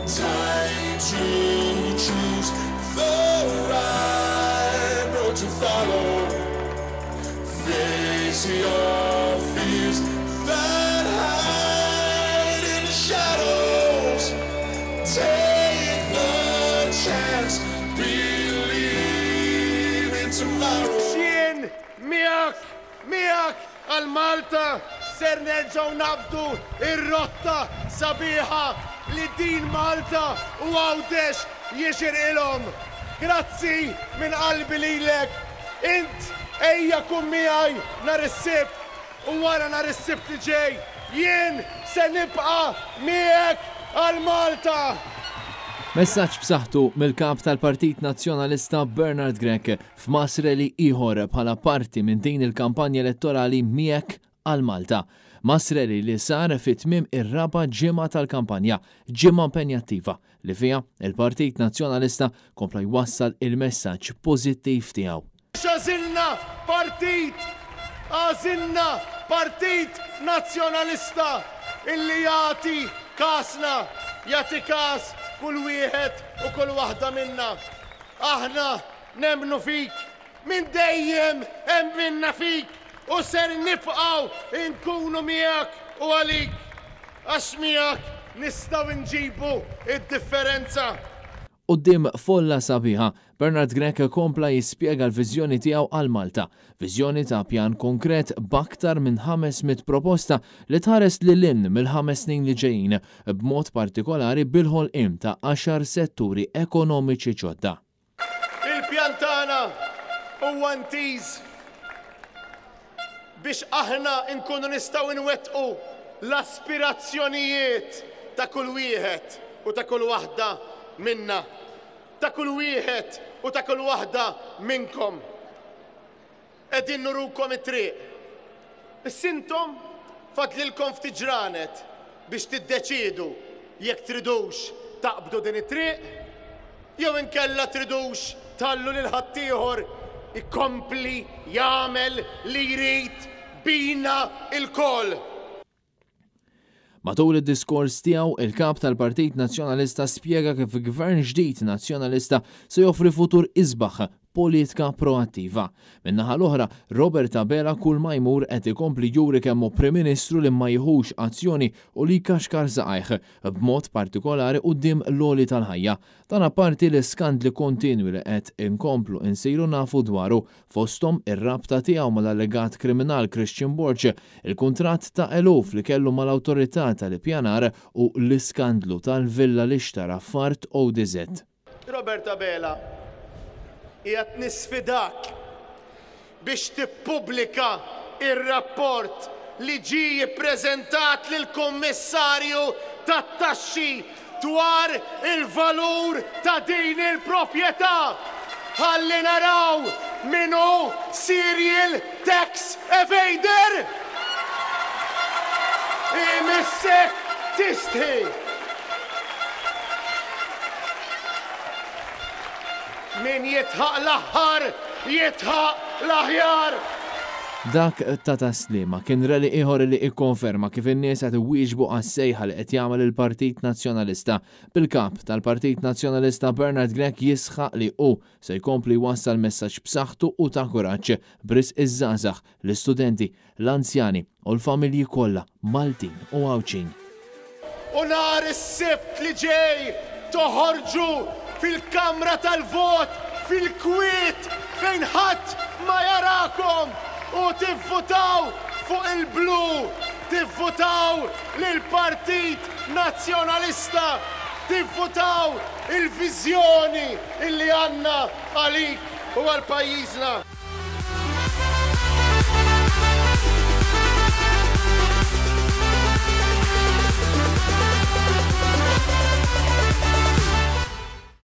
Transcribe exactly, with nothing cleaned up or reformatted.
Time to choose the right road to follow. Face your fears that hide in the shadows. Take the chance, believe in tomorrow. Jien miegħek, miegħek għal Malta ser nerġgħu nabdu ir-rotta sabiħa li din Malta u Għawdex jixirqilhom. Grazzi minn qalbi lilek. Int ejja kun miegħi nhar is-Sibt u wara nhar is-Sibt li ġej. Jien se nibqa' miegħek għal Malta. Messaġġ b'saħħtu mill-kap tal-Partit Nazzjonalista Bernard Grech f'mass rally ieħor bħala parti minn din il-kampanja elettorali Miegħek għal Malta. Mass rally li sar fi tmiem ir-raba' ġimgħa tal-kampanja, ġimgħa impenjattiva li fiha il-Partit Nazzjonalista kompla jwassal il-messaġġ pożittiv tiegħu. Għażilna partit, għażilna Partit Nazzjonalista illi jagħti kasna, jagħti kas kull wieħed u kull waħda minna. Aħna nemmnu fik, minn dejjem emminna fik u ser nibqgħu inkunu miegħek u għalik. Għax miegħek nistgħu nġibu id-differenza. Quddiem folla sabiħa, Bernard Grech kompla jispjega l-viżjoni tiegħu għal Malta, viżjoni ta' pjan konkret b'aktar minn ħames mitt proposta li tħares lil hinn mill-ħames snin li ġejjin, b'mod partikolari bil-ħolqien ta' għaxar setturi ekonomiċi ġodda. Il-pjan tagħna huwa intiż biex aħna nkunu nistgħu nwettqu l-aspirazzjonijiet ta' kull wieħed u ta' kull waħda minna, ta' kull wieħed u ta' kull waħda minnkom. Qegħdin nurukom it-triq. Issa intom fadlilkom ftit ġranet biex tiddeċiedu jekk tridux taqbdu din it-triq jew inkella tridux tħallu lil ħaddieħor ikompli jagħmel li jrid bina lkoll. Matul id-diskors tiegħu, il-kap tal-Partit Nazzjonalista spjega kif gvern ġdid nazzjonalista se joffri futur isbaħ politika proattiva. Min-naħa l-oħra, Robert Abela kull ma jmur qed ikompli juri kemm hu Prim Ministru li ma jieħux azzjoni u li kaxkar saqajh b'mod partikolari quddiem l-għoli tal-ħajja. Dan apparti l-iskandli kontinwi li qed inkomplu insiru nafu dwaru, fosthom ir-rabta tiegħu mal-allegat kriminal Christian Borg, il-kuntratt ta' eluf li kellu mal-awtorità tal-ippjanar u l-iskandlu tal-villa li xtara f'art O D Z. Robert Abela, qiegħed nisfidak biex tippubblika ir-rapport li ġie ppreżentat lill-Kummissarju tat-Taxxi dwar il-valur ta' din il-proprjetà. Ħalli naraw min hu serial tax evader! Imissek tistħi! Min jidħaq l-aħħar, jidħaq l-aħjar! Dak ta' Tas-Sliema kien rally ieħor li ikkonferma kif in-nies qed iwieġbu għas-sejħa li qed jagħmel il-Partit Nazzjonalista. Bil-kap tal-Partit Nazzjonalista Bernard Grech jisħaq li hu se jkompli jwassal messaġġ b'saħħtu u ta' kuraġġ b'risq iż-żgħażagħ, l-istudenti, l-anzjani u l-familji kollha Maltin u Għawdxin. U nhar is-Sibt li ġej toħorġu fil-kamra tal-vot, fil-kwiet fejn ħadd ma jarakom u tivvutaw fuq il-blu, tivvutaw lill-Partit Nazzjonalista, tivvutaw il-viżjoni illi għandna għalik u għal pajjiżna.